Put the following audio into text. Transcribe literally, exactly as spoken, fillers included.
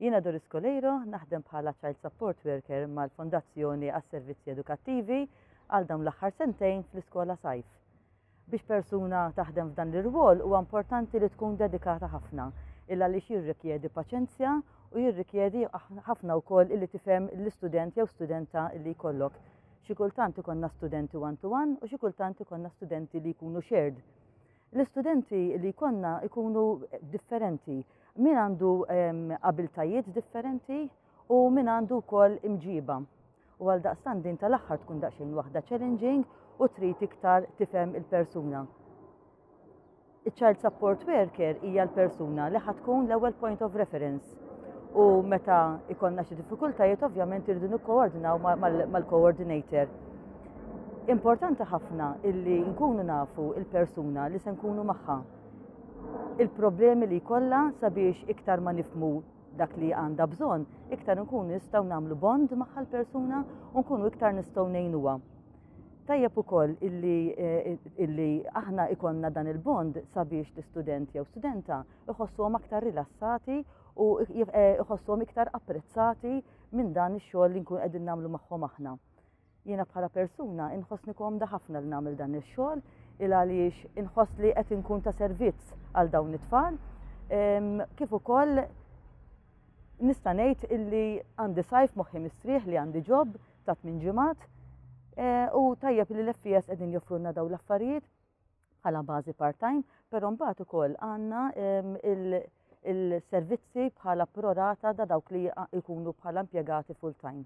Jiena Doris Coleiro, naħdem bħala Child Support Worker mal-Fondazzjoni għas-Servizzi Edukattivi għal dawn l-aħħar sentejn fl-iskola Sajf. Biex persuna taħdem f'dan l-irwol, huwa importanti li tkun dedikata ħafna, illa li jirrikjedi paċenzja u jirrikjedi ħafna wkoll illi tifhem l-istudent jew studenta li jkollok. Xi kultant ikollna studenti one to one u xi kultant ikollna studenti li jkunu shared. L-istudenti li jkollna ikunu differenti. Min għandu abiltajiet differenti u min għandu wkoll imġiba. U għal daqstant din tal-aħħar tkun daqsxejn waħda challenging u trid iktar tifhem il-persuna. Il-child support worker hija l-persuna li ħa tkun l-ewwel point of reference u meta ikollna xi diffikultajiet, ovvjament irridu nikkoordinaw mal-coordinator. Importanti ħafna illi nkunu nafu il-persuna li se nkunu magħha, il-problemi li jkollha, sabiex iktar ma nifhmu dak li għandha bżonn, iktar nkunu nistgħu nagħmlu bond magħha l-persuna u nkunu iktar nistgħu ngħinuha. Tajjeb ukoll illi, eh, illi aħna ikollna dan il-bond sabiex l-istudent jew studenta iħossuhom aktar rilassati u eh, iħossuhom iktar apprezzati minn dan ix-xogħol li nkun qegħdin nagħmlu magħhom aħna. Jiena bħala persuna inħossni komda ħafna li nagħmel dan ix-xogħol, il għaliex inħoss li qed inkun ta' servizz għal dawn it-tfal. Kif ukoll nista' ngħid illi għandi sajf moħħi mistrieħ li għandi job ta' tmien ġimgħat e, u tajjeb li l-F E S qegħdin joffrulna dawn l-affarijiet bħala bażi part-time, però mbagħad ukoll għandna il-servizzi bħala prorata da dawk li jkunu bħala impjegati full-time.